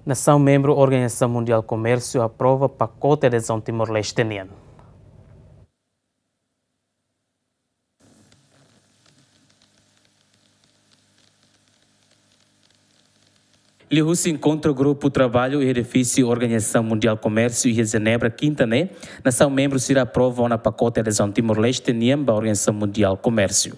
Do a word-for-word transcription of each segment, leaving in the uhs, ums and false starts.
Nasaun membru Organizasaun Mundiál Komérsiu aprova pakote adezaun Timor-Leste nian. Liuhusi enkontru grupu traballu iha edifísiu Organizasaun Mundiál Komérsiu iha Jenebra, kinta ne'e, nasaun membru sira aprova ona pakote adezaun Timor-Leste nian ba Organizasaun Mundiál Komérsiu.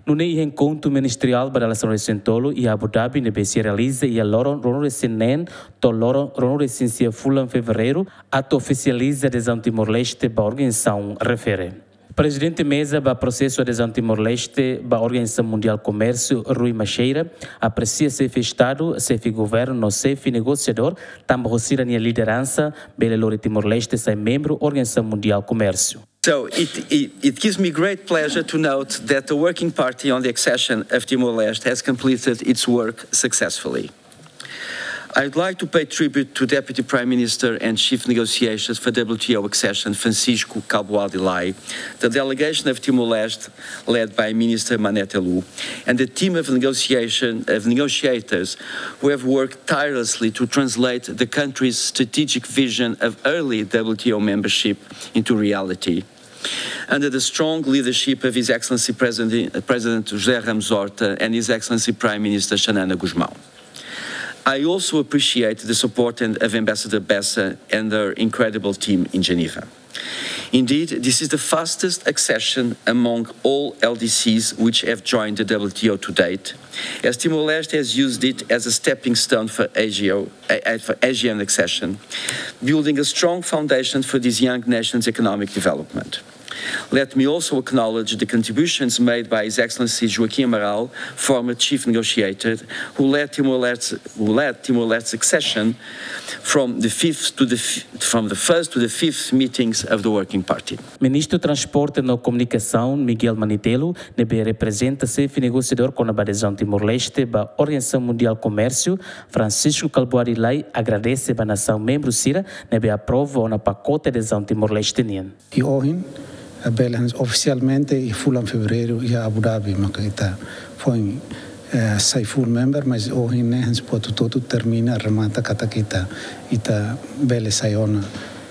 Nune'e iha enkontru ministeriál ba dala sanulu-resin-tolu iha Abu Dhabi ne'ebé sei realiza iha loron ruanulu-resin-neen to'o loron ruanulu-resin-sia fulan Fevereiru, atu ofisializa adezaun Timor-Leste ba organizasaun refere. Prezidente Meza ba prosesu adezaun Timor-Leste ba Organizasaun Mundiál Komérsiu, Rui Maceira, apresia xefe Estadu, xefe Governu no xefe negosiadór, tanba ho sira-nia lideransa, bele lori Timor-Leste sai membru Organizasaun Mundiál Komérsiu. So it, it, it gives me great pleasure to note that the Working Party on the Accession of Timor-Leste has completed its work successfully. I'd like to pay tribute to Deputy Prime Minister and Chief Negotiator for W T O accession, Francisco Kalbuadi Lay, the delegation of Timor-Leste, led by Minister Manete Lu, and the team of negotiation, of negotiators who have worked tirelessly to translate the country's strategic vision of early W T O membership into reality, under the strong leadership of His Excellency President, President José Ramos Horta and His Excellency Prime Minister Xanana Gusmão. I also appreciate the support and, of Ambassador Bessa and her incredible team in Geneva. Indeed, this is the fastest accession among all L D Cs which have joined the W T O to date, as Timor-Leste has used it as a stepping stone for A G O, eh, eh, for A G N accession, building a strong foundation for this young nation's economic development. Let me also acknowledge the contributions made by His Excellency Joaquim Amaral, former Chief Negotiator, who led Timor-Leste's, who led Timor-Leste's accession from the fifth to the f-, from the first to the fifth meetings of the Working Party. Ministru Transporte no Komunikasaun, Miguel Manitelu, ne'ebé reprezenta xefe negosiadór kona-ba adezaun Timor-Leste ba Organizasaun Mundiál Komérsiu, Francisco Kalbuadi Lay, agradese ba nasaun membru sira ne'ebé aprova ona pakote adezaun Timor-Leste nian. I ohin, eh, bele hanesan ofisialmente iha fulan Fevereiru iha Abu Dhabi maka ita foin, eh, sai full member, mas ohin ne'e hanesan buat hotu-hotu termina, remata katak ita, ita bele sai ona,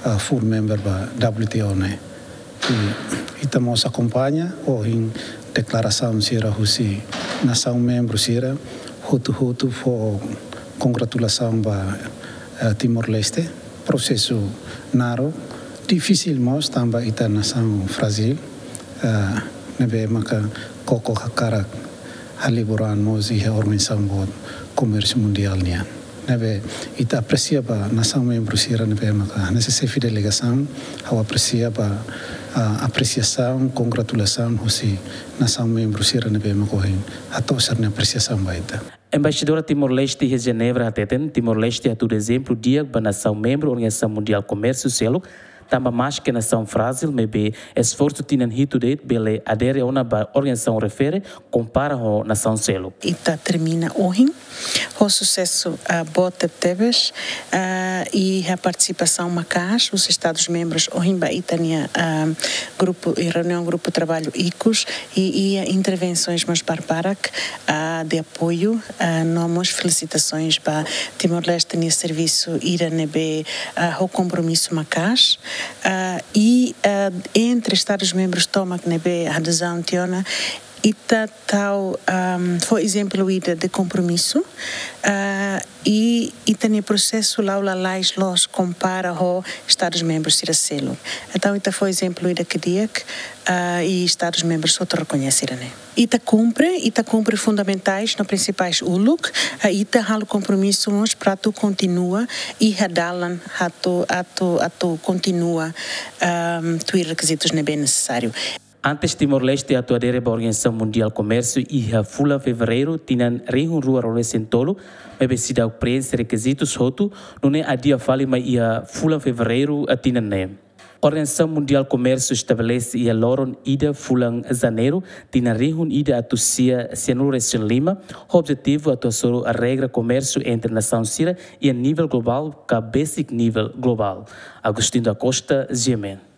eh, full member ba W T O ne'e. I ita mós akompaña ohin deklarasaun sira husi nasaun membru sira, hotu-hotu fó kongratulasaun ba, eh, Timor-Leste. Prosesu naruk, difisil mós tanba ita nasaun frájil, eh, ne'ebé maka koko hakarak halibur an mós iha organizasaun boot komérsiu mundiál nian. Ne'ebé ita apresia ba nasaun membru sira ne'ebé maka hanesan xefe delegasaun, ha'u apresia ba, ah, apresiasaun, kongratulasaun husi nasaun membru sira ne'ebé maka ohin hato'o sira-nia apresiasaun ba ita. Embaixadora Timor-Leste iha Jenebra hateten, Timor-Leste hatudu ezemplu di'ak ba nasaun membru Organizasaun Mundiál Komérsiu seluk, tanba maske nasaun frájil, maibé esforsu tinan hitu de'it bele adere ona ba organizasaun refere, kompara ho nasaun seluk. Ita termina ohin ho susesu, ah, boot tebetebes, ah, iha partisipasaun maka'as husi Estadus membrus ohin ba ita-nia, ah, grupu, iha reuniaun grupu traballu ikus, i, i iha intervensoens mós barbarak, ah, de apoiu, ah, no mós felisitasoens ba Timor-Leste nia servisu ida ne'ebé, ah, ho kompromisu maka'as, ah, i, ah, entre Estadus membrus tomak ne'ebé adezaun tiha ona, ita tau, ahm, fó ezemplu ida de kompromisu, ah, i ita-nia prosesu la'o lalais loos kompara ho Estadus membrus sira seluk. Entaun, ita fó ezemplu ida ke di'ak, ah, i Estadus membrus hotu rekoñese ida-ne'e. Ita kumpre, ita kumpre fundamentais no prinsipais uluk, ah, ita halo kompromisu mós para atu kontinua iha dalan atu, atu, atu kontinua, ahm, tuir rekizitus ne'ebé nesesáriu. Antes Timor-Leste atu adere ba Organizasaun Mundiál Komérsiu iha fulan Fevereiru tinan rihun rua ruanulu-resin-tolu, maibé seidauk preenxe rekizitus hotu, nune'e adia fali mai iha fulan Fevereiru, ah, tinan ne'e. Organizasaun Mundiál Komérsiu estabelese iha loron ida fulan Janeiru tinan rihun ida atus sia sianulu-resin-lima, ho objetivu atu hasoru regra komérsiu entre nasaun sira iha nivel globál ka besik nivel globál. Agostinho da Costa, G M N.